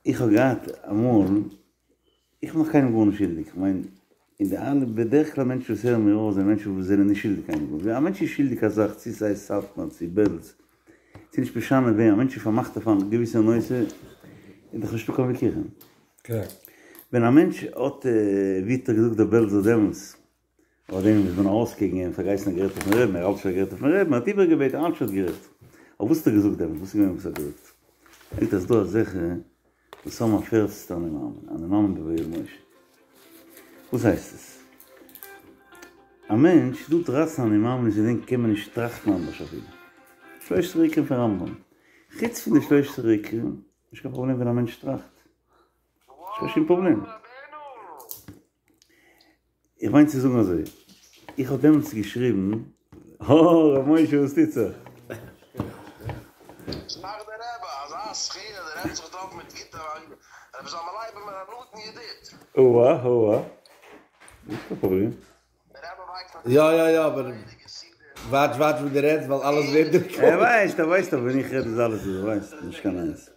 איך האב געהאט אמאל, איך בין נאך קיינעם גארנישט שולדיג, איך מיין, אין די אלע, בדרך כלל מענטשן וואס הערן מיר אויס זענען מענטשן וואס זענען נישט שולדיג קיינעם גארנישט, ווען א מענטש איז שולדיג א זאך, צו סאיז סאטמאר צו בעלז, ס'איז נישט משנה וועם, א מענטש איז פארמאכט אויף א געוויסע נושא, איז דאך נישטא קיין וויכוחים. ווען א מענטש האט, ווי האט ער געזאגט דער בעלזער דעמאלטס, אבער דעם איז מען ארויס קעגן אים, פארגעסן ער גערעדט אויפן רעבן, ער האלט שוין גערעדט אויפן רעבן, ער האט איבערגעבעטן, ער האלט שוין גערעדט. אבער וואס האט ער געזאגט דעמאלטס, וואס איז געווען וואס ער האט געזאגט? ער זאגט אז ס'דא אזעלכע וואס האבן א פערצנטע אני מאמין, אני מאמין בויואל משה. וואס הייסט עס? א מענטש, ס'דא דרייצן אני מאמין'ס אין דעם קען מען נישט טראכטן אנדערש אפילו. שלשה עיקרים פון רמב"ם. חוץ פון די שלשה עיקרים, נישט קיין פראבלעם ווען א מענטש טראכט. נישט קיין שום פראבלעם. איך מיין צו זאגן אזוי, איך האב דעמאלטס געשריבן, הא ר' משה וואס טוט זיך? שמח דער רבי, אזא זכיה, דער רבי האט זיך געטראפן מיט גוטע רבי זלמן לייב איז מיר א נאנטן ידיד. אוה אוה, נישט קיין פראבלעם. יא יא יא אבער וואטש וואטש וואס דו רעדסט ווייל אלעס ווערט רעקארדעד. ער ווייסט ער ווייסט אבער ווען איך רעד איז אלעס ער ווייסט נישט קיין נייעס.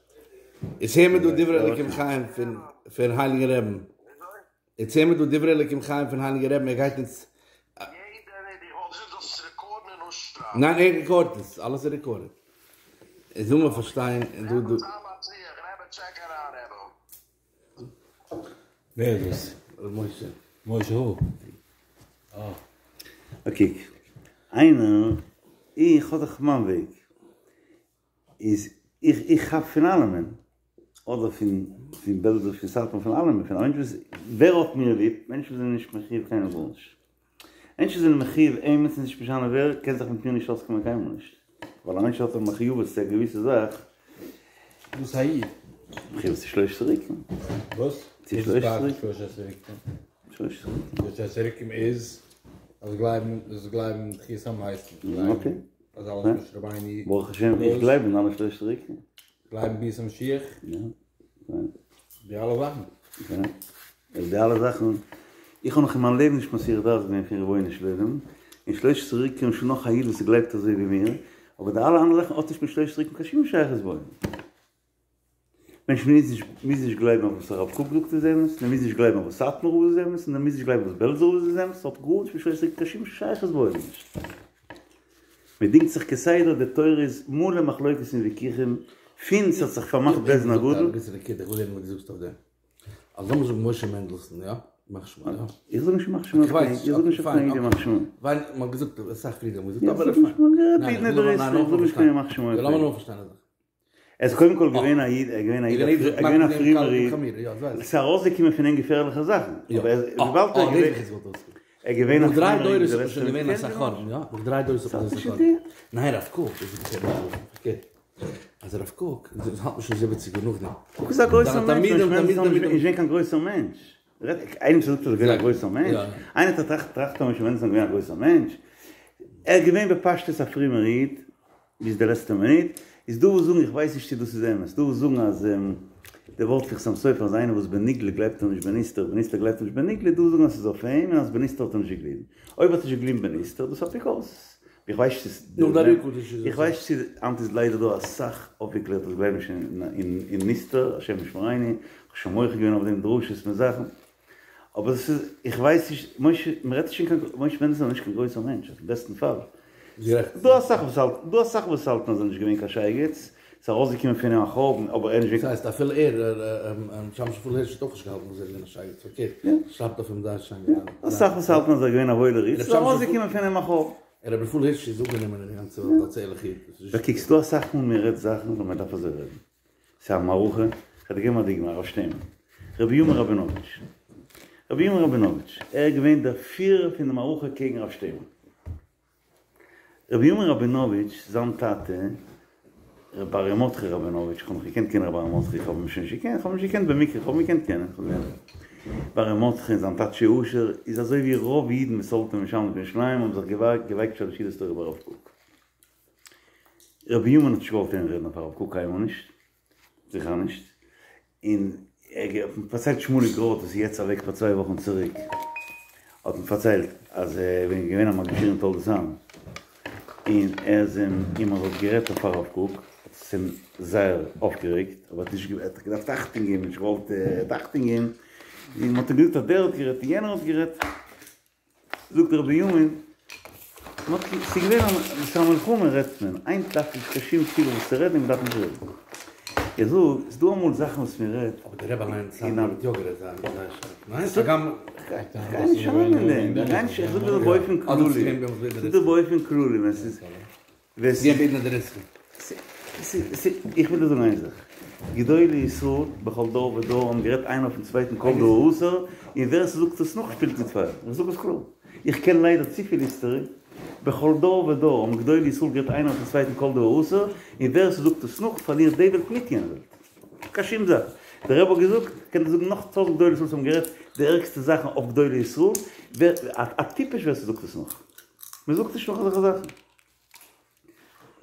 איצט הער מיר דא דברי אלוקים חיים פון פון הייליגן רעבן. איצט הער מיר דא דברי אלוקים חיים פון הייליגן רעבן ער גייט אונז. ניין ער רעקארדט עס אלעס איז רעקארדעד. איז זאל מען פארשטיין דא דא. ווער איז דאס? ר' משה. משה הו? אה. אקעי, איינער, איך האב דאך מיין וועג, איז איך איך כאפ פון אלעמען, אדער פון פון בעלזא פון סאטמאר פון אלעמען, פון א מענטש וואס, ווער האט מיר ליב? מענטשן וואס זענען נישט מחיוב קיינעם גארנישט. מענטשן זענען מחיוב עימיצן נישט משנה ווער, קען זיך מיט מיר נישט אויסקומען קיינמאל נישט. ווייל א מענטש האט א מחויבות צו א געוויסע זאך. וואס א איד? מחויבות צו שלושת עיקרים. וואס? צו שלושת עיקרים. שלושת עיקרים. שלושת עיקרים איז אז גלייבן אז גלייבן תחיית המתים. אקעי. אז אלעס משה רבינו. ברוך השם איך גלייב אין אלע שלושת עיקרים. גלייבן ביאת המשיח. יא. די אלע זאכן. יא. די אלע זאכן. איך האב נאך אין מיין לעבן נישט מסיח דעת געווען פון רבונו של עולם. און שלושת עיקרים שוין נאך א איד וואס גלייבט אזוי ווי מיר. אבער די אלע אנדערע זאכן האט נישט מיט שלושת עיקרים קיין שום שייכות בעולם. מענטש מוז נישט מוז נישט גלייבן אויף וואס הרב קוק זאגט איז אמת, און ער מוז נישט גלייבן אויף וואס סאטמאר רב איז אמת, און ער מוז נישט גלייבן וואס בעלזער רב איז אמת, ס'האט גארנישט מיט שלושת עיקרים קיין שום שייכות בעולם נישט. מען דינגט זיך כסדר, די תורה איז מלא מחלוקת און וויכוחים, פון ס'האט זיך פארמאכט בית דין הגדול. א געוויסע נקודה, איך וויל הערן וואס דו זאגסט אויף דעם. אז לאמיר זאגן משה מענדלסאן, יא? ימח שמו, יא? איך זאג נישט ימח שמו, איך זאג נישט אויף קיין איד ימח שמו. ווייל מ'האט געזאגט אסאך פריער האט מען געזאגט אבער פיין. איך זאג נישט קיין ימח שמו. לאמיר נאר פארשטיין א זאך. ער איז קודם כל געווען א איד, ער איז געווען א איד, ער איז געווען א פרומער איד, עס איז ארויסגעקומען פון אים געפערליכע זאכן, אבער וויבאלד ער איז געווען א פרומער איד, קוק איז א גרויסער מענטש, משה מענדלסאן איז נישט געווען קיין גרויסער מענטש, איינער וואס זאגט אז ער איז געווען א גרויסער מענטש, איינער האט טראכט אז משה מענדלסאן איז געווען א גרויסער מענטש, ער איז געווען בפשטות א פרומער איד, ביז די לעצטע מינוט, איז דא וואס זאגן, איך ווייס נישט צו דאס איז אמת, דא וואס זאגן אז די ווארט פון חתם סופר אז איינער וואס בנגלה גלייבט ער נישט בנסתר, בנסתר גלייבט ער נישט בנגלה, דא וואס זאגן אז ס'איז אויף אים און אז בנסתר האט ער נישט געגליבן. אויב האט ער נישט געגליבן בנסתר, דאס איז אפיקורסות. איך ווייס נישט צו ס'איז, איך ווייס נישט צו, היינט איז ליידער דא אסאך אויפגעקלערטע וואס גלייבן נישט אין נסתר, השם ישמרינו, איך האב שוין מוחה געווען אויף דעם דרשות מיט זאכן. אבער עס איז, איך ווייס נישט, משה, מען רעדט נישט פון קיין, משה מענדלסאן איז נישט קיין גרויסער מענטש, אויפן בעסטן פאל. דא אסאך וואס האלטן, דא אסאך וואס האלטן אז ער איז נישט געווען קיין שייגעץ, ס'איז ארויסגעקומען פון אים א חורבן, אבער ער איז נישט געווען. דאס הייסט אפילו ער, ר' שמשון רפאל הירש האט אויך נישט געהאלטן אז ער איז געווען א שייגעץ, פארקערט, שרייבט אויף אים זייער שיין. אסאך וואס האלטן אז ער איז געווען א וואוילער איד, ס'איז ארויסגעקומען פון אים א חורבן. ר' רפאל הירש איז אנגענומען אין די גאנצע וועלט אלס ערליכע איד. דו קוקסט דא אסאך מאל מען רעדט זאכן וואס מען דארף אזוי רעדן. ס'איז א מערכה, כ'וועל דיר געבן א דוגמא, הרב שטערנבוך, ר' בנימין ראבינאוויטש, ר' בנימין ראבינאוויטש, ער איז געווען דער פירער פון די מערכה קעגן הרב שטערנבוך. ר' בנימין ראבינאוויטש, זיין טאטע, ר' אריה מרדכי ראבינאוויטש, כ'האב נאך געקענט קענען ר' אריה מרדכי, כ'האב אים שוין נישט געקענט, כ'האב אים נישט געקענט במקרה, כ'האב אים געקענט קענען, כ'האב געזען ר' אריה מרדכי און זיין טאטשי אשר איז אזוי ווי רוב אידן וואס האלטן אין ירושלים האבן זיך געווייקט שלש סעודות תורה ביי הרב קוק. ר' בנימין האט נישט געוואלט הערן רעדן אויף הרב קוק קיינמאל נישט, זיכער נישט, און ער האט מיר פארציילט שמואליק ראטה וואס איז יעצט אוועק פאר צוויי וואכן צוריק, האט מיר פארציילט אז ער איז געווען א מגיד שיעור אין תולדות אהרן, און ער איז אים און מען האט גערעדט אויף הרב קוק, האט עס. ס'אים זייער אויפגערעגט, אבער האט נישט האט געדארפט אכטונג געבן, נישט געוואלט אכטונג געבן, און מ'האט אים געזאגט אז דער האט גערעדט און יענער האט גערעדט, זאגט ר' בנימין, מ'האט ס'איז געווען א ס'איז א מלחמה רעדט מען, היינט דארף נישט קיין שום סיבה וואס צו רעדן און מ'דארף נישט רעדן. איך זאג, ס'איז דא אמאל זאכן וואס מ'רעדט, אבער דער רבי אליינס האט יא גערעדט זייער זייער שארף, ניין? הגם. כ'גיי נישט אריין אין דעם, כ'גיי נישט, איך זאג דיר באופן כללי, איך זאג דיר באופן כללי ווען ס'איז. איך וויל דיר זאגן איין זאך, גדולי ישראל בכל דור ודור האבן גערעדט איינער אויפן צווייטן כל דבר אסור, און ווער ס'זאגט עס נאך שפילט מיט פייער, איך זאג עס קלאר, איך קען ליידער צופיל היסטערי, בכל דור ודור האבן גדולי ישראל גערעדט איינער אויפן צווייטן כל דבר אסור, און ווער ס'זאגט עס נאך פארלירט די וועלט מיט יענע וועלט. קיין שום זאך. דער רבי האט געזאגט, איך קען דיר זאגן נאך טויזנט גדולי ישראל וואס האבן גערעדט די ערגסטע זאכן אויף גדולי ישראל, ווער, א טיפש ווער ס'זאגט עס נאך. מ'זאגט נישט נאך אזעלכע זאכן.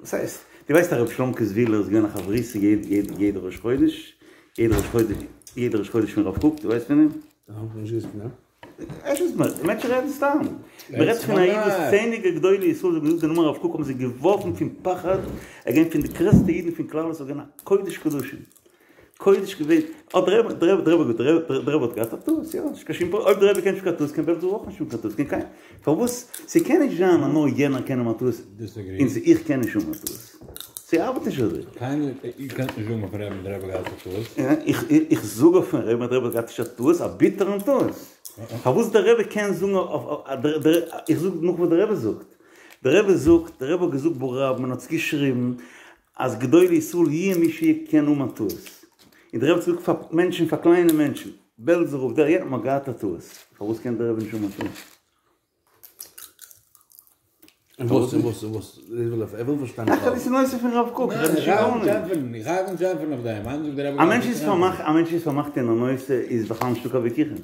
וואס הייסט? דו ווייסט אז רבי שלומ'קע זוויהלער איז געווען א חברותא יעדע ראש חודש, יעדע ראש חודש, יעדע ראש חודש פון רב קוק, דו ווייסט פון אים? נישט געוואוסט פון אים. עס איז מיר, מענטשן רעדן סתם. מען רעדט פון א איד וואס צענדליגע גדולי ישראל האבן געזאגט די נאמען הרב קוק האבן זיי געווארפן פון פחד, ער איז געווען פון די גרעסטע אידן פון כלל ישראל, געווען א קודש קדשים. קודש געווען, האט דער רבי, דער רבי, דער רבי, דער רבי האט געהאט א טעות, יא, נישט קיין שום פראבלעם, אויב דער רבי קען נישט קיין טעות קען בעלזער אויך נישט האבן קיין טעות, קען קיינער, פארוואס, ס'קען נישט זיין אז נאר יענער קען האבן א טעות, און איך קען נישט האבן א טעות, ס'ארבעט נישט אזוי. קיינער, איר קענט נישט זאגן אויפן רבי'ן אז דער רבי האט געהאט א טעות. איך זאג אויפן רבי'ן אז דער רבי האט געהאט נישט א טעות, א ביטערן טעות. פארוואס דער רבי קען זאגן אויף, איך זאג נאך וואס דער רבי זאגט, דער רבי זאגט, דער רבי האט געזאגט ברבים און האט עס געשריבן, אז גדולי ישראל יהיה מי שיהיה קען האבן א טעות. און דער רבי האט געזאגט פאר מענטשן פאר קליינע מענטשן, בעלזער רב דער יענער האט געהאט א טעות, פארוואס קען דער רבי נישט האבן א טעות? און וואס און וואס און וואס ער וויל פארשטיין. איך רעד נישט נושא פון רב קוק, איך רעד נישט פון גארנישט. איך הייב אן צו ענטפערן אויף דעם, איינער זאגט דער רבי א מענטש איז פארמאכט, א מענטש איז פארמאכט אין א נושא איז בכלל נישטא קיין וויכוחים.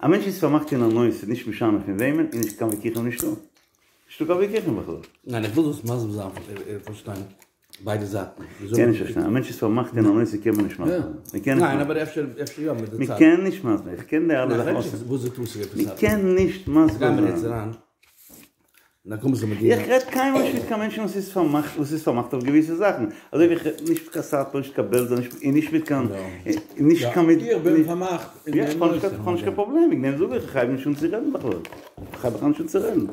א מענטש איז פארמאכט אין א נושא נישט משנה פון וועמען איז נישט קיין וויכוחים נישטא. נישטא קיין וויכוחים בכלל. ניין איך וויל דאס מסביר זיין פאר פארשטיין ביידע זייטן. קען נישט פארשטיין, א מענטש איז פארמאכט אין א נושא קען מען נישט מסביר זיין. מען קען נישט ניין אבער אפשר אפשר יא מיט די צייט. מען קען נישט מסביר, איך קען די אלע זאכן אויסענווייניג. וואס איז די טעות מען קען נישט מסביר זיין. איך רעד קיינמאל נישט מיט קיין מענטשן וואס איז פארמאכט וואס איז פארמאכט אויף געוויסע זאכן, אזוי ווי איך רעד נישט מיט קיין סאטמאר נישט קיין בעלזער נישט און נישט מיט קיין נישט קיין מיט איך בין פארמאכט אין יא איך האב נישט קיין פראבלעם וועגן דעם זאג איך איך הייב נישט אן צו רעדן בכלל איך הייב בכלל נישט אן צו רעדן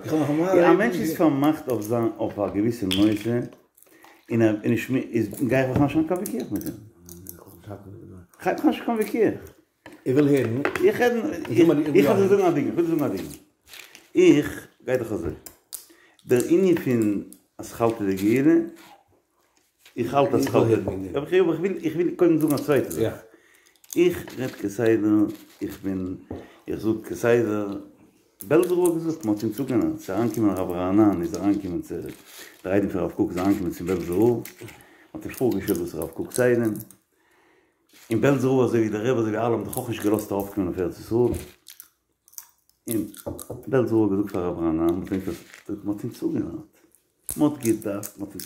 א מענטש איז פארמאכט אויף זיין אויף א געוויסע נושא און ער נישט איז גיי איך בכלל נישט אן קיין וויכוח מיט אים איך הייב בכלל נישט קיין וויכוח. איך וויל הערן. איך רעד, איך וויל דיר זאגן א דוגמא, איך וויל דיר זאגן א דוגמא. איך גיי דאך אזוי. דער ענין פון אתחלתא דגאולה, איך האלט אתחלתא, אבער איך וויל, איך וויל קודם זאגן א צווייטע זאך. איך רעד כסדר, איך בין, איך זאג כסדר, בעלזער רב האט געזאגט, מ'האט אים צוגענארט, ס'איז אריינגעקומען הרב רענן איז אריינגעקומען צו, דער איידעם פון הרב קוק איז אריינגעקומען צום בעלזער רב, מ'האט אים פארגעשטעלט דאס הרב קוק'ס איידעם, און בעלזער רב אזוי ווי דער רבי אזוי ווי אלע האבן דאך אויך נישט געלאזט ארויפקומען אויף ארץ ישראל, און בעלזער רב האט געזאגט פאר הרב רענן, מען האט אונז אפגענארט, מען האט געדארפט, מען האט אונז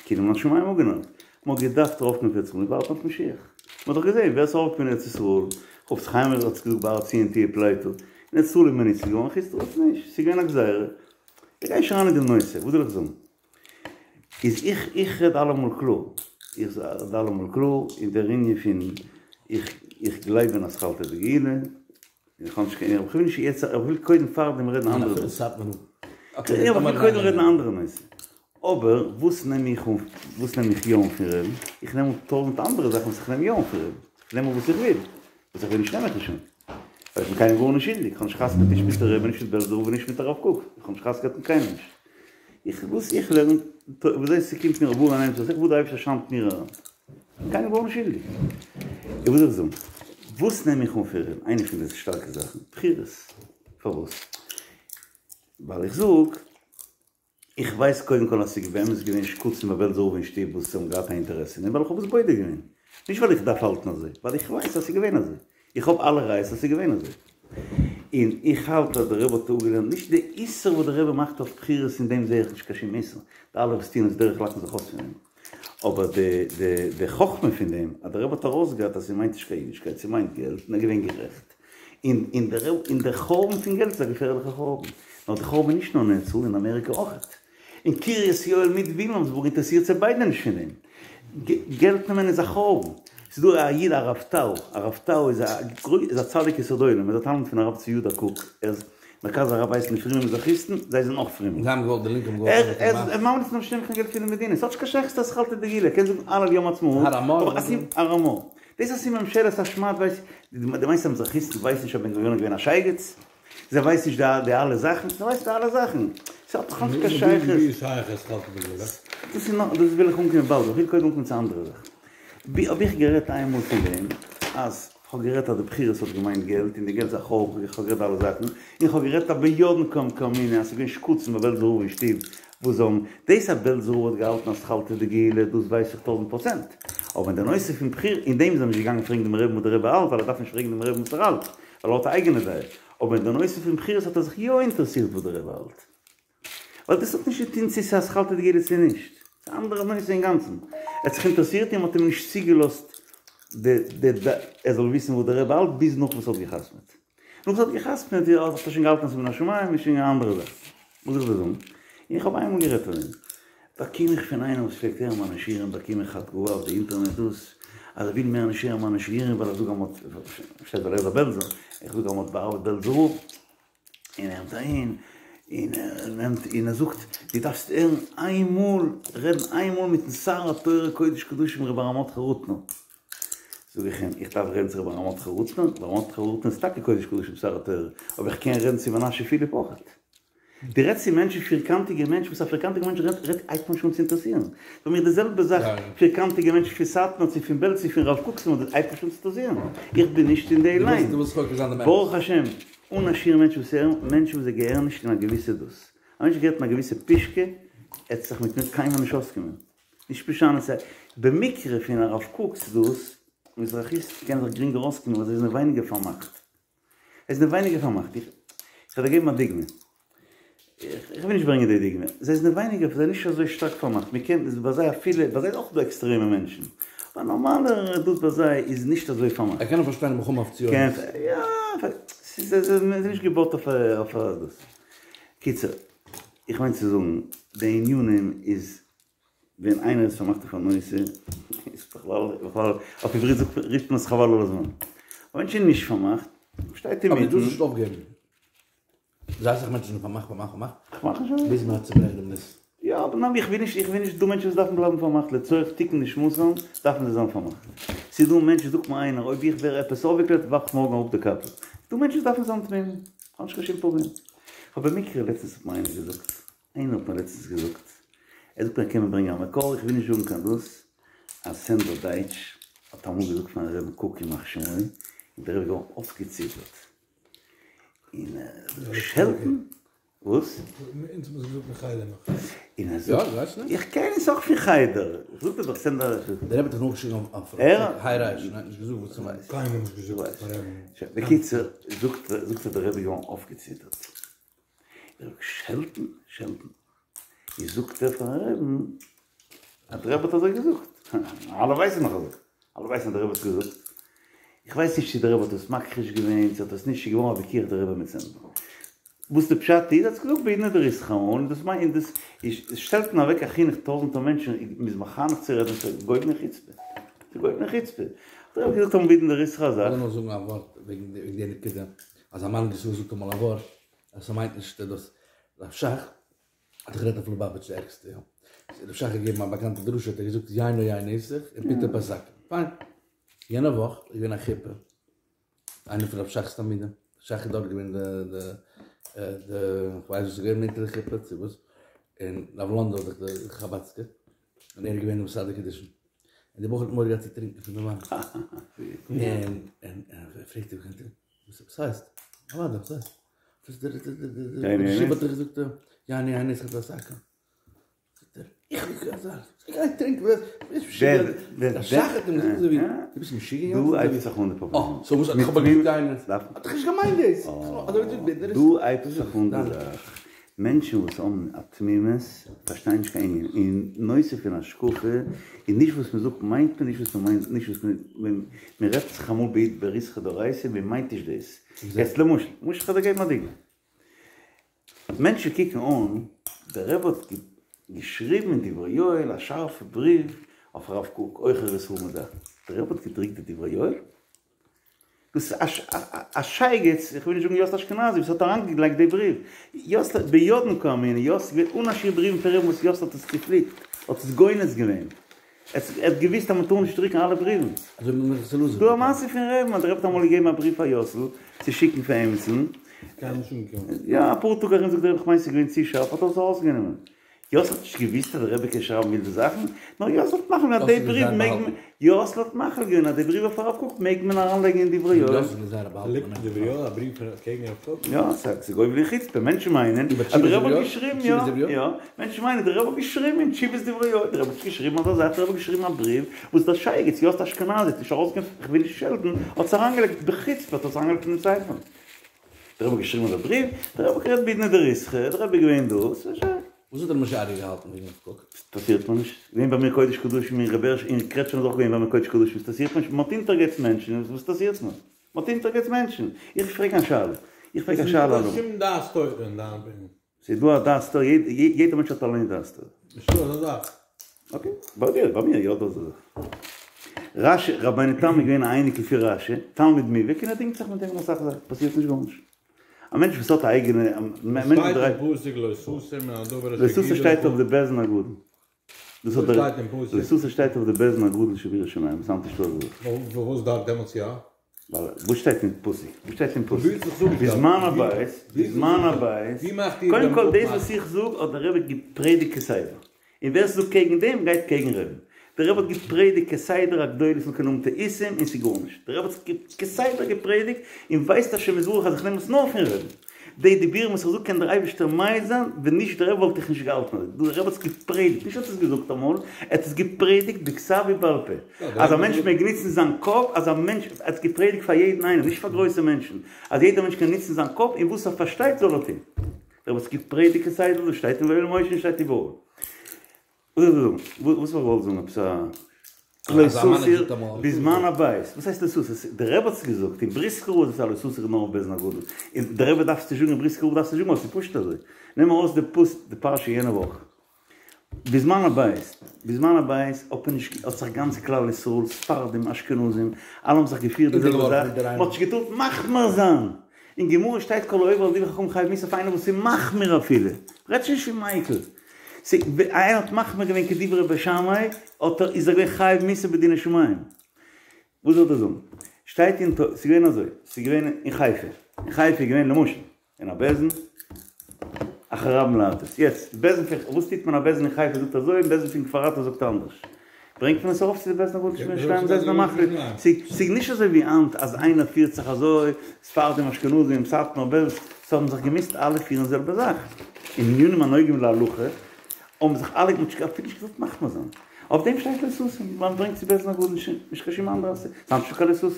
כאילו מן השמים אפגענארט, מען האט געדארפט ארויפקומען אויף ארץ ישראל און ווארטן אויף משיח, מען האט דאך געזען ווער ס'איז ארויפגעקומען אין ארץ ישראל, חפץ חיים האט געזאגט בהר ציון תהיה פליטה, אין ארץ ישראל איז מען ניצול געווארן, חוץ לארץ נישט, ס'איז געווען א גזירה, איך גיי נישט אריין אין דעם נושא, וואס זאל איך זאגן? איז איך איך רעד אלעמאל קלאר, איך רעד אלעמאל קלאר אין דער ענין פון איך איך גלייב אין אתחלתא דגאולה, איך האב נישט קיין איך וויל נישט יעצט איך וויל קודם פארדעם רעדן אנדערע נושא, איך וויל קודם רעדן אנדערע נושא, אבער וואס נעם איך אן וואס נעם איך יא אן פון רבי'ן, איך נעם אן טויזענט אנדערע זאכן וואס איך נעם יא אן פון רבי'ן, איך נעם אן וואס איך וויל, וואס איך וויל נישט נעם איך נישט אן. ווייל איך בין קיינעם גארנישט שולדיג, איך האב נישט חתונה געהאט נישט מיט דער רבי נישט מיט בעלזער רב און נישט מיט הרב קוק, איך האב נישט חתונה געהאט מיט קיינעם נישט. איך וואס איך לערן וויאזוי ס'קומט מיר אויף אריין וואס איך וואס דער אייבערשטער שיינט מיר אריין. איך בין קיינעם גארנישט שולדיג. איך וויל דיך זאגן, וואס נעם איך אן פון רבי'ן, איינע פון די שטארקע זאכן, בחירות. פארוואס? ווייל איך זאג. איך ווייס קודם כל אז ס'איז באמת געווען שקצים ביי בעלזער רב אין שטוב וואס האבן געהאט א אינטערעס אין דעם ווייל איך האב עס בודק געווען. נישט ווייל איך דארף האלטן אזוי, ווייל איך ווייס אז ס'איז געווען אזוי. איך האב אלע ראיות אז ס'איז געווען אזוי. און איך האלט אז דער רבי האט אפגעלערנט נישט די איסור וואס דער רבי מאכט אויף בחירות אין דעם זעה איך נישט קיין שום איסור. די אלע וואס טוען עס דורך לאכן זיך אויס פון דעם. אבער די די די חכמה פון דעם אז דער רבי האט ארויסגעהאט אז ס'מיינט נישט קיין אידישקייט ס'מיינט געלט און ער איז געווען גערעכט. און און דער און דער חורבן פון געלט איז א געפערליכע חורבן. נאר די חורבן איז נישט נאר אין ארץ ישראל, אין אמעריקע אויכעט. אין קרית יואל מיט וויליאמסבורג אינטערעסירט זיי ביידע נישט פון דעם. געלט נעמען איז א חורבן. ס'איז דא א איד הרב טאו, הרב טאו איז א איז א צדיק יסוד עולם, ער איז א תלמיד פון הרב צבי יהודה קוק, ער איז מרכז הרב הייסן די פרומע מזרחיסטן, זיי זענען אויך פרומע. זיי האבן געוואלט, די לינקע האבן געוואלט ער איז ממליץ נישט נעמען קיין געלט פון די מדינה, ס'האט נישט קיין שייכות אתחלתא דגאולה, ער קען זאגן הלל יום העצמאות, אבער אסי הרמ"א. דאס אז ס'איז ממשלת השמד ווייס, דו מיינסט אז מזרחיסטן ווייסן נישט אז בן גוריון איז געווען א שייגעץ? זיי ווייסן נישט די אלע זאכן? זיי ווייסן די אלע זאכן. ס'האט דאך נישט קיין שייכות. ווי איז שייך אתחלתא דגאולה? דאס איז נאך, דאס וויל איך אנקומען באלד, איך וויל קודם אנקומען צו א אנדערע זאך. האב איך גערעדט איינמאל פון דעם אז כ'האב גערעדט אז די בחירות האט געמיינט געלט און די געלט איז א חורבן, איך האב גערעדט אלע זאכן, און כ'האב גערעדט אז ביודעין קאמינא אז ס'איז געווען שקצים ביי בעלזער רב אין שטוב וואס זאלן, דאס אז בעלזער רב האט געהאלטן אתחלתא דגאולה דאס ווייס איך טויזנט פראצענט, אבער אין די נושא פון בחירות, אין דעם איז ער נישט געגאנגען פרעגן דעם רבי'ן וואס דער רבי האלט ווייל ער דארף נישט פרעגן דעם רבי'ן וואס ער האלט ווייל ער האט א אייגענע דעה, אבער אין די נושא פון בחירות האט ער זיך יא אינטערעסירט וואס דער רבי האלט. ווייל דאס האט נישט צו טון צו ס'איז אתחלתא דגאולה צו נישט. ס'איז א אנדערע נושא אינגאנצן. ער האט זיך אינטערעסירט און מ'האט אים נישט צוגעלאזט די די די ער זאל וויסן וואס דער רבי האלט ביז נאך וואס ער האט גע'חתמ'עט. נאך וואס ער האט גע'חתמ'עט האט ער שוין געהאלטן אז ס'איז מן השמים איז שוין א אנדערע זאך. וואס זאל איך דיר זאגן? איך האב איינמאל גערעדט פון דעם. באקום איך פון איינעם וואס פלעגט הערן מיינע שיעורים באקום איך א תגובה אויף די אינטערנעט דאס אז ער וויל מער נישט הערן מיינע שיעורים ווייל איך זאג אז מ'האט פארשטייט ווייל ער איז א בעלזער איך זאג אז מ'האט בא'עוול'ט בעלזער רב. און ער נעמט אהין, און ער נעמט און ער זאגט, דו דארפסט הערן איין מאל, רעדן איין מאל מיטן שר התורה קודש קדשים רבי אהרן מרדכי רוטנער. זאג איך אים, איך דארף רעדן צו רבי אהרן מרדכי רוטנער? רבי אהרן מרדכי רוטנער איז טאקע קודש קדשים שר התורה, אבער איך קען רעדן צו מנשה פיליפ אויכעט. דו רעדסט צו מענטשן, פירקאנטיגע מענטשן, וואס א פירקאנטיגע מענטש רעדט, רעדט הייבט נישט אן צו אינטערעסירן. פאר מיר די זעלבע זאך, פירקאנטיגע מענטשן פון סאטמאר צו פון בעלז צו פון רב קוק'ס, הייבט נישט אן צו אינטערעסירן. איך בין נישט אין די ליין. ברוך השם. אן א שיעור מענטשן וואס הערן, מענטשן וואס זיי געהערן נישט אין א געוויסע דאס. א מענטש געהערט אין א געוויסע פישקע, ער וועט זיך מיט מיר קיינמאל נישט אויסקומען. נישט משנה ס'איז במקרה פון הרב קוק'ס דאס, מזרחיסטן קענען זיך גרינגער אויסקומען ווייל זיי זענען ווייניגער פארמאכט. זיי זענען ווייניגער פארמאכט. איך וועל דיר געבן א דוגמא. איך וויל נישט ברענגען די דוגמא. זיי זענען ווייניגער, זיי זענען נישט אזוי שטארק פארמאכט. מען קען ביי זיי אפילו, ביי זיי איז אויך דא עקסטרעמע מענטשן. אבער א נארמאלער דאס ביי זיי איז נישט אזוי פארמאכט. ער קען נאך פארשטיין מלחמה אויף ציונות. יא, ס'איז נישט געבויט אויף א דאס. קיצור, איך מיין צו זאגן, די ענינים איז ווען איינער איז פארמאכט אויף א נושא, איז בכלל, בכלל, אויף עברית זאגט מען, רופט מען עס חבל על הזמן. א מענטש איז נישט פארמאכט, שטייט אינמיטן. אבער דו זאלסט נישט אויפגעבן. זייער אסאך מענטשן זענען פארמאכט פארמאכט פארמאכט. כ'מאך נישט אויף. ביז מען האט צוברעכט דעם ניס. יא אבער ניין איך וויל נישט איך וויל נישט דא מענטשן וואס דארפן בלייבן פארמאכט לצורך תיקון נשמתם דארפן זיי זיין פארמאכט. ס'איז דא מענטשן זאגט מיר איינער אויב איך ווער עפעס אויפגעקלערט ווארף איך מארגן אראפ די קאפל. ס'דא מענטשן וואס דארפן זיין תמימים. כ'האב נישט קיין שום פראבלעם. כ'האב במקרה לעצטנס האט מיר איינער געזאגט איינער האט מיר לעצטנס געזאגט ער זאגט מיר ער קען מיר ברענגען א מקור איך וויל נישט זאגן קיין דאס אז סענדער דייטש האט אמאל געזאגט פארן רבין קוק ימח שמו און דער רבי איז געווארן אויפגעציטערט. און שעלטן? וואס? אונז האבן עס געזאגט אין חדר נאך. און ער זאגט, איך קען עס אויך פון חדר, איך זאג דיר דאך סענדער. דער רבי האט דאך נאכגעשריגן אויף היי רייש און האט נישט געזאגט וואס ס'מיינט. קיינמאל נישט געזאגט פאר רבי'ן. בקיצור, זאגט זאגט ער דער רבי איז געווארן אויפגעציטערט. ער זאגט שעלטן? שעלטן? איז זאגט ער פארן רבי'ן אז דער רבי האט אזוי געזאגט. אלע ווייסן נאך אזוי. אלע ווייסן אז דער רבי האט געזאגט. איך ווייס נישט צו דער רבי האט עס מכחיש געווען, צו האט עס נישט, ס'איז געווארן א וויכוח דער רבי מיט סענדער. וואס די פשט איז, ער האט עס געזאגט בעידנא דריתחא, און דאס מיינט, און דאס איז, שטעלט מען אוועק א חינוך טויזענטער מענטשן, מ'איז מחנך צו רעדן, ס'איז גובן חוצפה. ס'איז גובן חוצפה. האט דער רבי געזאגט אמאל בעידנא דריתחא א זאך. כ'וויל נאר זאגן א ווארט וועגן די נקודה, אז א מנהיג ישראל זאגט אמאל א ווארט, אז ס'מיינט נישט דאס רב שך האט דאך גערעדט אויף ליובאוויטש די ערגסטע יא. רב שך האט געגעבן א באקאנטע דרשה האט ער געזאגט יינו יין נסך און פיתו פת עכו"ם. פיין. יענע וואך איז געווען א חופה איינער פון רב שך'ס תלמידים, שך איז דארט געווען די די די כ'ווייס וואס איז געווען אונטער די חופה צו וואס, און רב לאנדא איז דאך די חבדסקער, און ער איז געווען די מסדר קידושין. און די בחור האט מורא געהאט צו טרינקען פון די וויין. און און ער פרעגט אים וואס הייסט? אוודאי וואס הייסט? וואס דער דער ראש ישיבה האט דאך געזאגט יינו יין נסך ופת עכו"ם. זאגט ער, איך האב געזאגט אזא זאך, גיי טרינק וואס ביסט משוגע? דער שך האט אים געזאגט אזוי ווי, דו ביסט משוגע יענץ? דא הייבט זיך אן די פראבלעם. אה, סאו וואס איך האב געזאגט יינו, האט דאך נישט געמיינט דאס. דא הייבט זיך אן די זאך. מענטשן וואס האבן א תמימות פארשטייען נישט קיין ענין אין נושא פון השקפה, און נישט וואס מען זאגט מיינט מען נישט וואס מען מיינט נישט וואס מען מען רעדט זיך אמאל בריתחא דאורייתא מען מיינט נישט דאס. יעצט למשל, למשל כ'וועל דיר געבן א דוגמא. מענטשן קוקן אן, דער רבי האט געשריבן אין דברי יואל א שארפע בריוו אויף הרב קוק, עוכר ישראל מיט זאכן. דער רבי האט געדרוקט די דברי יואל? דאס איז א שייגעץ, איך וויל נישט זאגן יאסל אשכנזי, וואס האט אריינגעלייגט די בריוו. יאסל, ביודעין קאמינא, יאסל, געווען אן א שיעור בריוון פון רבי'ן וואס יאסל האט עס צופליקט, האט עס גונז געווען. ער האט געוואוסט אז מען טאר נישט דרוקן אלע בריוון. אזוי ווי מנחת אלעזר. ס'דא א מעשה פון רבי'ן אז דער רבי האט אמאל געגעבן א בריוו פאר יאסל צו שיקן פאר עמיצן. קיינמאל נישט אנגעקומען. יא, אפאר טאג ארום זאגט דער רבי כ'מיין ס'איז געווען צו שארף האט ער עס ארויסגענומען. יאסל האט נישט געוואוסט אז דער רבי קען שרייבן ווילדע זאכן, נאר יאסל האט מחליט געווען אז די בריוו מעג מען, יאסל האט מחליט געווען אז די בריוו אויף הרב קוק מעג מען אריינלייגן אין דברי יואל. ליגט אין דברי יואל א בריוו פון קעגן הרב קוק? יא, ס'איז גובל אין חוצפה, מענטשן מיינען אז דער רבי האט געשריבן, יא, יא, מענטשן מיינען דער רבי האט געשריבן אין תשובות דברי יואל, דער רבי האט נישט געשריבן אזא זאך, דער רבי האט געשריבן א בריוו וואס דער שייגעץ יאסל אשכנזי האט נישט ארויסגעגעבן, כ'וויל נישט שעלטן, האט עס אריינגעלייגט בחוצפה האט ער עס אריינגעלייגט אין דעם ספר. דער רבי האט געשריבן אזא בריוו, דער רבי האט גערעדט בעידנא דריתחא, דער רבי איז געווען דא, ס'איז שוין. וואס האט ר' משה אריה געהאלטן וועגן הרב קוק? ס'אינטערעסירט מיר נישט, געווען ביי מיר קודש קדשים אין ר' בעריש אין קרעטשניף איז אויך געווען ביי מיר קודש קדשים, ס'אינטערעסירט מיר נישט, מ'האט אונטערגעהעצט מענטשן, וואס אינטערעסירט מיר? מ'האט אונטערגעהעצט מענטשן, איך פרעג א שאלה, איך פרעג א שאלה ס'איז נישטא קיין שום דעת תורה אין דיין אפיניען. ס'איז דא א דעת תורה, יעדער מענטש האט אליין דעת תורה. נישטא אזא זאך. אקעי, ביי דיר, ביי מיר יא דא אזא זאך. רש"י, רבינו תם איז געווען א אייניקל פון רש"י, תלמיד מובהק, און ער דינגט זיך מיט אים אין אסאך זאכן, פאסירט נישט גארנישט. א מענטש וואס האט א אייגענע, א מענטש וואס דרייט. שטייט אין פסוק לא תסור מן הדבר לא אשר תסור יגידו שטייט לך. אויף די בית דין הגדול. דאס האט וואס דער שטייט אין פסוק? לא תסור שטייט אויף די בית דין הגדול שבירושלים, ס'היינט נישטא אזא זאך. פארוואס דארט דעמאלטס יא? ווייל וואס שטייט אין פסוק? וואס שטייט אין פסוק? ווילסט דאך זאגן בזמן הבית, בזמן הבית, ווי מאכט איר קודם דעם כל דאס אפמאך? וואס איך זאג האט דער רבי געפרעדיגט כסדר, און ווער ס'זאגט קעגן דעם גייט קעגן רבי'ן. דער רבי האט געפרעדיגט כסדר אז גדולי ישראל קענען האבן טעותים און ס'איז גארנישט. דער רבי האט כסדר געפרעדיגט און ווייסט השם יתברך אז איך נעם עס נאר פון רבי'ן. די דיבורים וואס איך זאג קען דער אייבערשטער מעיד זיין, ווען נישט דער רבי וואלט איך נישט געהאלטן אזוי, דער רבי האט עס געפרעדיגט, נישט האט עס געזאגט אמאל, ער האט עס געפרעדיגט בכתב ובעל פה, אז א מענטש מעג נוצן זיין קאפ, אז א מענטש, ער האט עס געפרעדיגט פאר יעדן איינעם, נישט פאר גרויסע מענטשן, אז יעדער מענטש קען נוצן זיין קאפ און וואס ער פארשטייט זאל ער טון. דער רבי האט עס געפרעדיגט כסדר, דאס שטייט אין ויואל משה און שטייט איבעראל. וואס זאל איך זאגן? וואס האב איך געוואלט זאגן? עפעס א לא תסור בזמן הבית. וואס הייסט לא תסור? דער רבי האט עס געזאגט, אין בריסקער רב איז עס א לא תסור נאר אויף בית דין הגדול. און דער רבי דארף עס נישט זאגן, אין בריסקער רב דארף עס נישט זאגן, ווייל עס איז פשוט אזוי. נעם ארויס די פוס די פרשה יענע וואך. בזמן הבית, בזמן הבית האט מען נישט, האט זיך גאנץ כלל ישראל, ספרדים, אשכנזים, אלע האבן זיך געפירט די זעלבע זאך, מען האט נישט געטארט מחמיר זיין. אין גמרא שטייט כל העובר על דברי חכמים חייב מיתה אויף איינער וואס איז מחמיר אפילו. רעדט שוין נישט פון מיקל. איינער האט מחמיר געווען כדברי בית שמאי, האט ער, איז ער געווען חייב מיתה בדיני שמים. וואס זאל איך דיר זאגן? שטייט אין תו, ס'איז געווען אזוי, ס'איז געווען אין חיפה, אין חיפה איז געווען למשל, אין א בית דין, אחר רבים להטות. יעצט, בית דין פון, וואס טוט מען א בית דין אין חיפה זאגט אזוי, און בית דין פון כפר עטה זאגט אנדערש. ברענגט מען עס ארויף צו די בית דין הגדול שבירושלים, זיי זענען מחליט. ס'איז נישט אזוי ווי היינט אז איינער פירט זיך אזוי, ספרדים אשכנזים סאטמאר בעלז, ס'האבן זיך געמוזט אלע פירן זעלבע זאך. אין ענינים הנוגעים להלכה האבן זיך אלע מ'האט אפילו נישט געזאלט מחמיר זיין. אויף דעם שטייט לא תסור, מען ברענגט צו בית דין הגדול נישט קיין שום אנדערע סיבה. ס'היינט נישטא קיין לא תסור.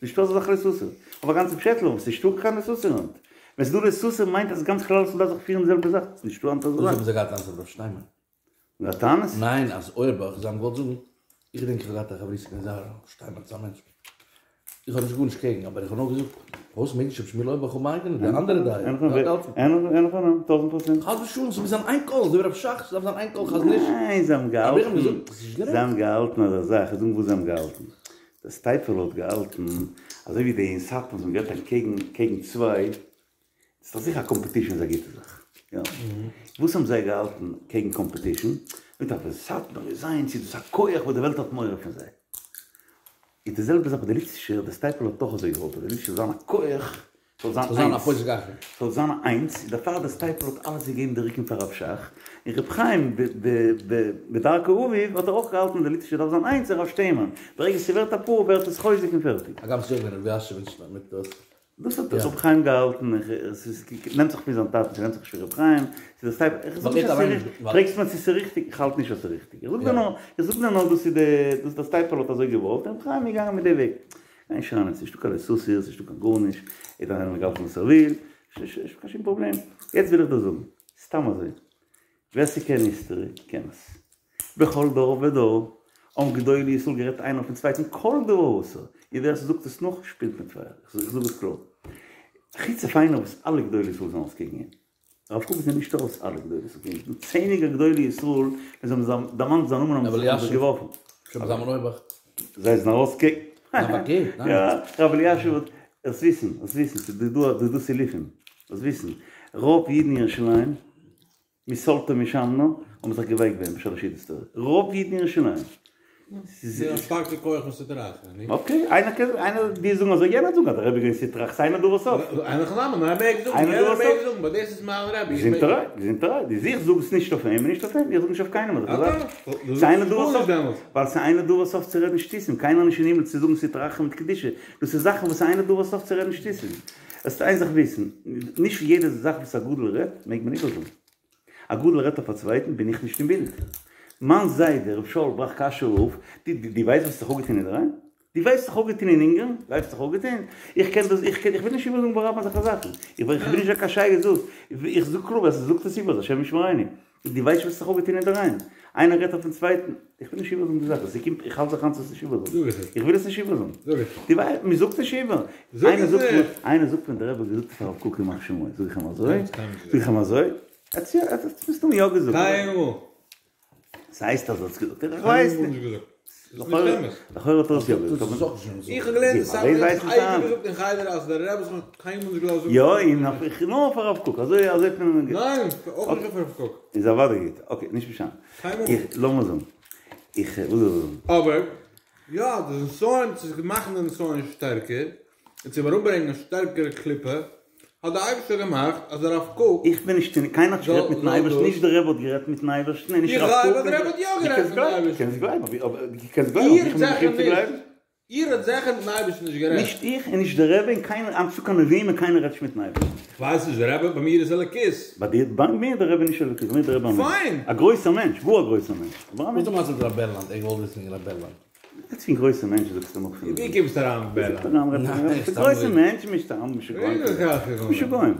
נישטא אזא זאך לא תסור. אויף א גאנצע פשעטל ארום, ס'נישטא קיין לא תסור היינט. ווען ס'איז דא לא תסור מיינט אז גאנץ כלל ישראל דארף זיך פירן די זעלבע זאך. ס'נישטא היינט אזא וואס זאך. האבן זיי געהאט טענות אויף רב שטיינמאן? געהאט טענות? ניין אז אויערבאך זיי האבן געוואלט זאגן, איך געדענק איך האב געהאט א חברותא געווען זייער רב שטיינמאן איז א מענטש, איך האב נישט גארנישט קעגן אבער איך האב נאר געזאגט פארוואס מעג נישט רבי שמואל אויערבאך האבן אייגענע די אנדערע דעה אין הכי נמי, טויזנט פראצענט. חס ושלום ס'מוז זיין איין קול אזוי ווי רב שך ס'דארף זיין איין קול חזון איש. ניין זיי האבן אבער איך האב געהאלטן, געזאגט ס'איז נישט גערעכט. זיי האבן געהאלטן אזא זאך, איך זאג וואס זיי האבן געהאלטן, דער סטייפלער האט געהאלטן אזוי ווי די אין סאטמאר זיי האבן גערעדט אקעגן קעגן צוויי, ס'איז דאך זיכער א קאמפעטישן איז א גוטע זאך, יא? וואס האבן זיי געהאלטן קעגן קאמפעטישן? מיט אז סאטמאר איז איינס איז דאס א כח וואס די וועלט האט מורא פון זיי. איז די זעלבע זאך ביי די ליטווישע, די סטייפלער האט אויך אזוי געוואלט אז די ליטווישע זאל זיין א כח, זאל זיין איינס, זאל זיין איינס, דערפאר די סטייפלער האט אלעס געגעבן די רוקן פאר רב שך, און ר' חיים בדרכי אביו האט ער אויך געהאלטן אז די ליטווישע דארף זיין איינס און רב שטיינמאן, ברגע ס'ווערט אפאר ווערט עס חוזק און פערטיג. אגב ס'איז אויך געווען רבי אשר מיט דאס. דאס האט ר' חיים געהאלטן, עס נעמט זיך פון זיין טאטן, ס'נעמט זיך נישט פון ר' חיים, ס'איז די סטייפלער, איך זאג נישט אז ס'איז ריכטיג, פרעגסט מיר צו ס'איז ריכטיג, איך האלט נישט אז ס'איז ריכטיג, איך זאג דיר נאר, איך זאג דיר נאר דאס איז די, דאס דער סטייפלער האט אזוי געוואלט, און ר' חיים איז געגאנגען מיט די וועג. גיי נישט אריין, ס'נישטא קיין לא תסור, ס'נישטא קיין גארנישט, יעדער איינער מעג האלטן וואס ער וויל, נישטא קיין שום פראבלעם. יעצט וויל איך דיר זאגן, סתם אזוי, ווער ס'קען היסטערי, קען עס. בכל דור ודור האבן גדולי ישראל גערעדט איינער אויפן צווייטן כל דבר אסור, און ווער ס'זאגט עס נאך שפילט מיט פייער, איך זאג עס קלאר. חוץ אויף איינער וואס אלע גדולי ישראל זענען ארויס קעגן אים. הרב קוק זענען נישט ארויס אלע גדולי ישראל קעגן אים, ס'דא צענדליגער גדולי ישראל ווען זיי האבן דערמאנט זיין נאמען האבן זיי זיך געווארפן. שלמה זלמן אויערבאך. זיי זענען ארויס קעגן. ניין פארקערט, ניין. יא, רב אלישיב האט, זאלסט וויסן, זאלסט וויסן, ס'איז דא דא דא סילופים, זאלסט וויסן, רוב אידן אין ירושלים, מסלתה ומשמנה, האבן זיך געווייקט ביי אים בשלש סעודות תורה, רוב אידן אין ירושלים. ס'איז א שטארקע כח פון סטרא אחרא, נישט? אקעי, איינער קען, איינער דיר זאגן אזוי, יענער זאגן אז דער רבי איז געווען סטרא אחרא, ס'אינו דבר סוף. אין הכי נמי, נאר ער מעג זאגן, יענער מעג זאגן, באט דאס איז מיין רבי. געזונטערהייט, געזונטערהייט, די זיך זאג עס נישט אויף אים און נישט אויף אים, איך זאג נישט אויף קיינעם אזעלכע זאכן. ס'אינו דבר סוף, ווייל ס'אינו דבר סוף צו רעדן שטותים, קיינער נישט אין הימל צו זאגן סטרא אחרא מיט קדושה, דאס איז זאכן וואס אינו דבר סוף צו רעדן שטותים. זאלסט איין זאך וויסן, נישט יעדע זאך וואס א גדול רעדט מעג מען איבערזאגן. א גדול רעדט אויף א צווייטן בין איך נישט אין בילד. מיין זיידע ר' שאול בראך קאשויער רב, דו דו ווייסט וואס האט זיך אפגעטון אינדערהיים? דו ווייסט וואס האט זיך אפגעטון אין אונגארן? ווייסט וואס האט זיך אפגעטון? איך קען דאס איך קען איך וויל נישט איבערזאגן ברבים אזעלכע זאכן. איך בין נישט קיין שייגעץ דאס. איך זאג קלאר ווער ס'זאגט עס איבער השם ישמרינו. דו ווייסט וואס האט זיך אפגעטון אינדערהיים? איינער רעדט אויפן צווייטן. איך וויל נישט איבערזאגן די זאך. ס'קומט איך האלט זיך איין צו עס נישט איבערזאגן. איך וויל עס נישט איבערזאגן. דו ווייסט מ'זאגט נישט איבער. איינער זאגט מיר איינער זאגט מיר דער רבי האט געזאגט פאר הרב קוק ימח שמו. זאג איך אים אזוי? זאג איך אים אזוי? ער האט עס מסתמא יא געזאגט. קיינמאל. ס'הייסט אז ער האט עס געזאגט. איך ווייס נישט. לכאורה האט ער עס יא געזאגט. איך האב געלערנט אין סאטמאר האט אייביג געזאגט אין חדר אז דער רבי האט קיינמאל נישט געלאזט זאגן. יא און אויף נאר אויף הרב קוק. אזוי אזוי האט מען. ניין אויך נישט אויף הרב קוק. איז אוודאי גוט. אקעי נישט משנה. קיינמאל. לאמיר זאגן. איך וואס זאל איך זאגן. אבער יא די נסיון צו מאכן די נסיון שטערקער און צו אראפברענגען א שטערקערע קליפה האט די אייבערשטער געמאכט אז הרב קוק איך בין נישט אין, קיינער האט נישט גערעדט מיטן אייבערשטן, נישט דער רבי האט גערעדט מיטן אייבערשטן און נישט הרב קוק, איך גלייב אז דער רבי האט יא גערעדט מיטן אייבערשטן. קענסט גלייבן, אבער דו קענסט גלייבן, אבער איך בין נישט מחויב צו גלייבן. איר האט זיכער מיטן אייבערשטן נישט גערעדט. נישט איך און נישט דער רבי און קיינער, היינט נישטא קיין נביאים און קיינער רעדט נישט מיטן אייבערשטן. איך ווייס נישט, דער רבי ביי מיר איז אלוקית. ביי דיר, ביי מיר איז דער רבי נישט אלוקית, ביי מיר איז דער רבי א מענטש. פיין! א גרויסער מענטש, גאר א גרויסער מענטש, אבער א וואס מענטש. איז די מעשה מיט רב בערלאנד? איך וואלט וויסן וועגן רב בערלאנד. רעדסט פון גרויסע מענטשן זאגסטו נאך פון ווי קומסטו אריין מיט בערלאנד? גרויסע מענטשן מישט אריין משוגעים משוגעים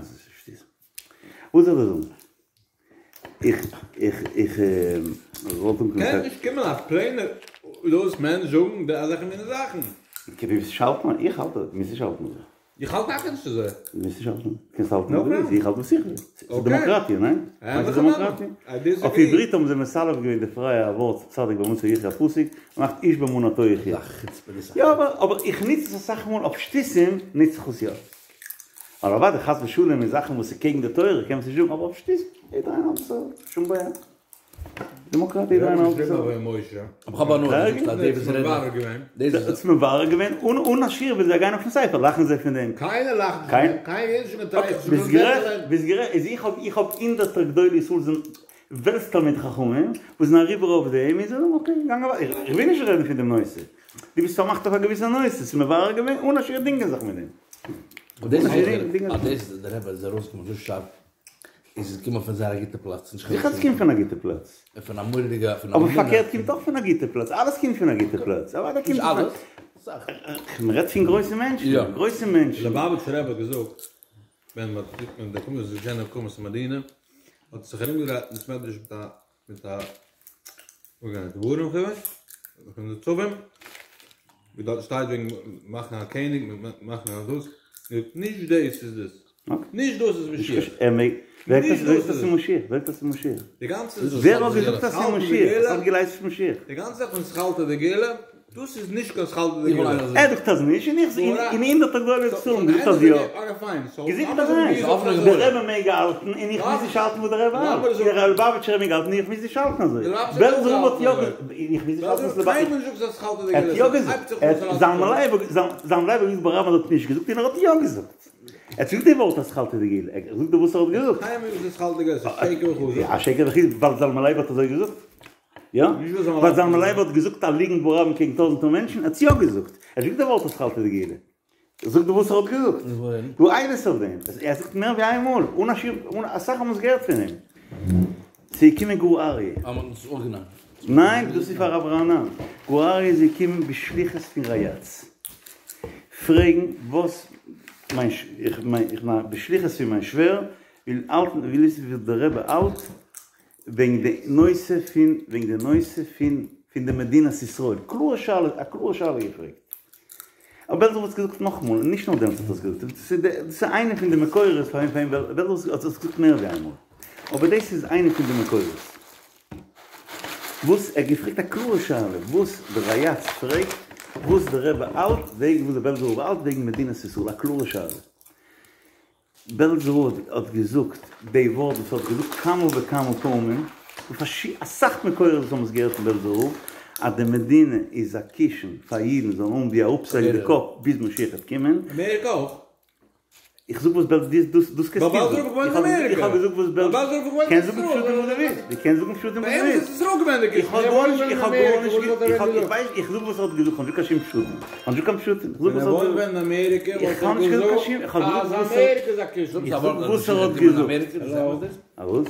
וואס זאל איך זאגן איך איך איך וואלט אנקומען קען נישט קומען א פלעינער דאס מענטש זאגן די אזעלכע מינע זאכן. אקעי ווי האלט מען? איך האלט מוז נישט האלטן אזוי. איך האלט טאקע נישט אזוי. מוזט נישט האלטן. קענסט האלטן ווי דו ווילסט, איך האלט וואס איך וויל. ס'איז דעמאקראטיע, ניין? ס'איז דעמאקראטיע. אויף עברית האבן זיי מסלף געווען די פרייע ווארט צדיק באמונתו יחיה א פסוק, מ'מאכט איש באמונתו יחיה. יא אבער אבער איך נוץ עס אסאך מאל אויף שטותים נוץ איך עס יא. ווייל אוודאי חס ושלום אין זאכן וואס איז קעגן די תורה קען מען עס נישט זאגן אבער אויף שטותים יעדער איינער האלט עס אזוי, שום בעיה. דעמאקראטיע יעדער איינער האלט עס אזוי. אבער כ'האב הנאה דו זאגסט אז די וואס רעדן דאס איז מברר געווען אן א שיעור ווען זיי גייען אויפן ספר לאכן זיי פון דעם. קיינער לאכט נישט פון דעם, קיינער איז נישט געטרייסט. ביסט גערעכט, ביסט גערעכט, איז איך האב איך האב הונדערטער גדולי ישראל זענען וועלטס תלמידי חכמים וואס זענען אריבער אויף דעם און זיי זאגן אקעי גאנג אוועק, איך וויל נישט רעדן פון דעם נושא, דו ביסט פארמאכט אויף א געוויסע נושא, ס'איז מברר געווען אן א שיעור דינגען זיך מיט דעם. און דאס אז דאס דער רבי איז ארויסגעקומען אזוי שארף איז עס געקומען פון זייער א גוטע פלאץ, נישט זיכער עס קומט פון א גוטע פלאץ. פון א מורא'דיגע פון א אבער פארקערט קומט אויך פון א גוטע פלאץ, אלעס קומט פון א גוטע פלאץ, אוודאי קומט נישט אלעס, אסאך. מען רעדט פון גרויסע מענטשן, גרויסע מענטשן. ליובאוויטשער רבי האט געזאגט ווען מען האט ווען די קומט איז געשען הקמת המדינה האט זיך ארומגעדרייט אין בית מדרש מיט א מיט א דברים חומש פון נצבים ווי דארט שטייט וועגן מאכן א קעניג מיט מאכן א דאס נישט דאס איז דאס נישט דאס איז משיח. ער מעג, ווער האט געזאגט אז ס'איז משיח? ווער האט געזאגט אז ס'איז משיח? די גאנצע ווער האט געזאגט אז ס'איז משיח? וואס האט געלייזט ס'איז משיח? די גאנצע זאך פון אתחלתא דגאולה, דאס איז נישט קיין אתחלתא דגאולה. ער זאגט אז נישט און איך און הונדערטער גדולי ישראל האבן געזאגט אז יא. געזאגט אז ניין. דער רבי מעג האלטן און איך מוז נישט האלטן וואס דער רבי האלט. דער ליובאוויטשער רבי מעג האלטן און איך מוז נישט האלטן אזוי. בעלזער רב האט יא געזאגט און איך מוז נישט האלטן וואס ליובאוויטש. ער האט יא געזאגט. זלמן לייב האט געזאגט ברבים אז ער האט נישט געזאגט און ער האט יא געזאגט. ער האט געזאגט די ווארט אתחלתא דגאולה, ער זאגט דיר וואס ער האט געזאגט. קיינמאל נישט אתחלתא דגאולה, ס'איז שקר וכזב. א שקר וכזב ווייל זלמן לייב האט אזוי געזאגט? יא? ווייל זלמן לייב האט געזאגט א ליגנט ברבים קעגן טויזענטער מענטשן? ער האט עס יא געזאגט. ער האט געזאגט די ווארט אתחלתא דגאולה. ער זאגט דיר וואס ער האט געזאגט. דא עדות אויף דעם. ער זאגט מער ווי איין מאל, אן א שיעור, אסאך האבן עס געהערט פון אים. ס'איז געקומען גור אריה. אה, מ'האט עס אויפגענומען. ניין, דאס איז פאר רב רענן. גור אריה איז געקומען בשליחות פון ריי"צ. פרעגן וואס מיין איך מיין איך מיין בשליחות פון מיין שווער וויל האלטן וויל וויסן ווי דער רבי האלט וועגן די נושא פון וועגן די נושא פון פון די מדינת ישראל. קלארע שאלה, א קלארע שאלה געפרעגט. אבער בעלזער רב האט עס געזאגט נאכאמאל, און נישט נאר דעמאלטס האט ער עס געזאגט, דאס איז איינע פון די מקורות פאר אים, בעלזער רב האט עס געזאגט מער ווי איינמאל, אבער דאס איז איינע פון די מקורות. וואס ער האט געפרעגט א קלארע שאלה, וואס דער ריי"צ פרעגט, וואס דער רבי האלט וועגן וואס דער בעלזער רב האלט וועגן מדינת ישראל, א קלארע שאלה. בעלזער רב האט געזאגט די ווארט וואס ער האט געזאגט כמה וכמה פעמים, און אסאך מקורות וואס האבן עס געהערט פון בעלזער רב, אז די מדינה איז א קישן פאר אידן זאלן האבן ווי אראפצולייגן די קאפ ביז משיח וועט קומען. אמעריקע אויך. איך זאג וואס בעלז דאס דאס דאס קענסטו זאגן. איך האב געזאגט וואס בעלז קענסט זאגן פשטים וואס דו ווילסט. דו קענסט זאגן פשטים וואס דו ווילסט. איך האב גארנישט איך האב גארנישט איך האב איך ווייס איך זאג וואס ער האט געזאגט איך האב נישט קיין שום פשטים. איך האב נישט קיין פשטים. איך זאג וואס ער האט געזאגט. איך האב נישט געזאגט קיין שום איך האב געזאגט וואס ער איך זאג וואס ער האט געזאגט. א וואס?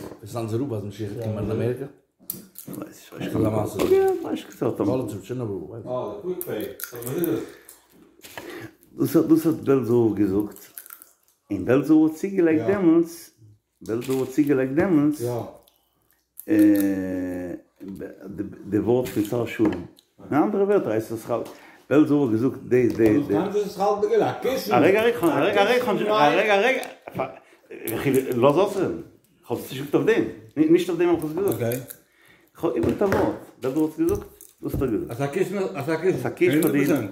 דאס האט בעלזער רב געזאגט, און בעלזער רב האט צוגעלייגט דעמאלטס, בעלזער רב האט צוגעלייגט דעמאלטס די ווארט פון שר שלום, אין אנדערע ווערטער הייסט עס בעלזער רב האט געזאגט די די די. א רגע א רגע א רגע א רגע א רגע לאז אויסרעדן. כ'האב עס נישט געזאגט אויף דעם, נישט אויף דעם האב איך עס געזאגט. כ'האב איבער א ווארט, בעלזער האט עס געזאגט, דאס האט ער געזאגט. אז א קישן, אז א קישן, אז א קישן פאר די אידן.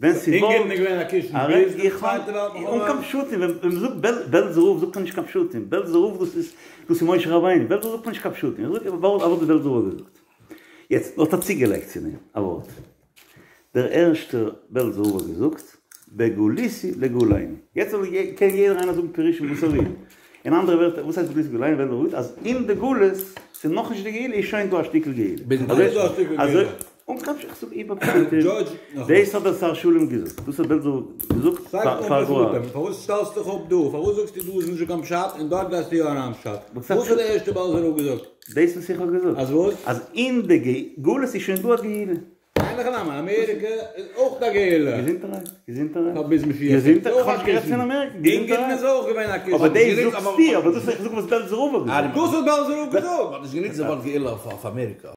ווען ס'וואלט, איך האב, אן קיין פשטים, ווען מ'זאגט בעלזער רב זאגט מען נישט קיין פשטים, בעלזער רב דאס איז, דאס איז משה רבינו, בעלזער רב זאגט מען נישט קיין פשטים, איך זאג א ווארט וואס בעלזער רב האט געזאגט. יעצט, האט ער צוגעלייגט צו דעם א ווארט. דער ערשטער בעלזער רב האט געזאגט, בגלותי לגאולנו. יעצט זאל קען יעדער איינער זאגן פירושים וואס ער וויל. אין אנדערע ווערטער, וואס הייסט בגלותי לגאולנו? בעלזער רב זאגט אז אין די גלות, ס'איז נאכנישט די גאולה, איז שוין דא א שטיקל גאולה. אזוי, אן קיין פשט, איך זאג איבער פשטים. דאס האט דער שר שלום געזאגט. דאס האט בעלזער רב געזאגט פאר גאר. פארוואס שטעלסטו דיך אפ דא? פארוואס זאגסטו דא איז נישטא קיין פשט און דארט גייסטו יא אריין פשט? וואס האט דער ערשטער בעלזער רב געזאגט? דאס וואס איך האב געזאגט. אז וואס? אז אין די גלות איז שוין דא א גאולה. אין הכי נמי, אמעריקע איז אויך א גאולה. געזונטערהייט, געזונטערהייט. פאר ביז משיח. געזונטערהייט, איך האב נישט גערעדט פון אמעריקע, געזונטערהייט. אונגערן איז אויך געווען א קישן. אבער דאס זאגסטו, אבער דאס איך זאג וואס בעלזער רב האט געזאגט. דאס האט בעלזער רב געזאגט. מ'האט נישט גענוצט די ווארט גאולה אויף אמעריקע.